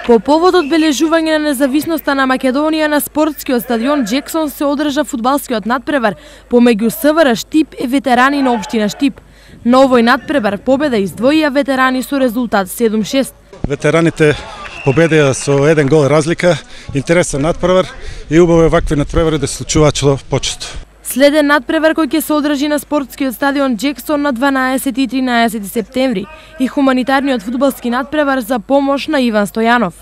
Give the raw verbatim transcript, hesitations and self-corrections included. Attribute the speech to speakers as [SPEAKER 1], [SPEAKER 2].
[SPEAKER 1] По повод одбележување на независноста на Македонија на спортскиот стадион Джексон се одржа фудбалскиот надпревар помеѓу СВР Штип и ветерани на општина Штип. На овој надпревар победа издвоија ветерани со резултат седум шест.
[SPEAKER 2] Ветераните победија со еден гол разлика, интересен надпревар и убаво е вакви надпревари да се случуваат што почесто.
[SPEAKER 1] Следен надпревар кој ќе се одржи на спортскиот стадион Джексон на дванаесети и тринаесети септември и хуманитарниот фудбалски надпревар за помош на Иван Стојанов.